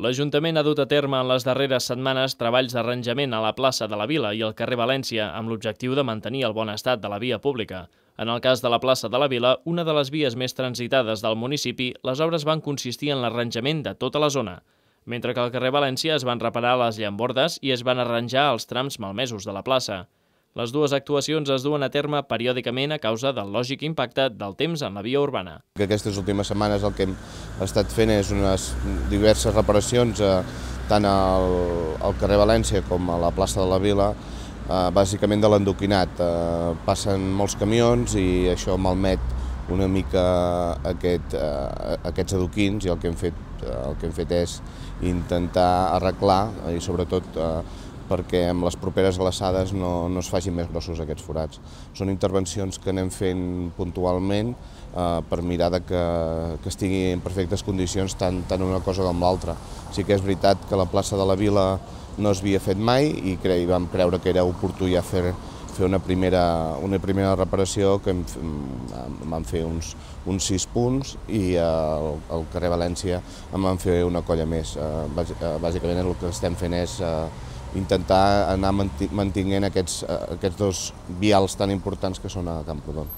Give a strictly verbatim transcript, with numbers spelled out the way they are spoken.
L'Ajuntament ha dut a terme en les darreres setmanes treballs d'arranjament a la plaça de la Vila i al carrer València amb l'objectiu de mantenir el bon estat de la via pública. En el cas de la plaça de la Vila, una de les vies més transitades del municipi, les obres van consistir en l'arranjament de tota la zona, mentre que al carrer València es van reparar les llambordes i es van arranjar els trams malmesos de la plaça. Les dues actuacions es duen a terme periòdicament a causa del lògic impacte del temps en la via urbana. Aquestes últimes setmanes el que hem estat fent és unes diverses reparacions eh, tant al, al carrer València com a la plaça de la Vila, eh, bàsicament de l'endoquinat. Eh, passen molts camions i això malmet una mica aquest, eh, aquests adoquins i el que hem fet, eh, el que hem fet és intentar arreglar i sobretot eh, perquè amb les properes glaçades no, no es facin més grossos aquests forats. Són intervencions que anem fent puntualment eh, per mirar de que, que estigui en perfectes condicions tant, tant una cosa com l'altra. Sí que és veritat que la plaça de la Vila no es havia fet mai i, cre i vam creure que era oportú ja fer, fer una, primera, una primera reparació que hem, vam fer uns, uns sis punts i al, al carrer València en vam fer una colla més. Eh, bàsicament el que estem fent és eh, intentar anar mantenint aquests, aquests dos vials tan importants que són a Camprodon.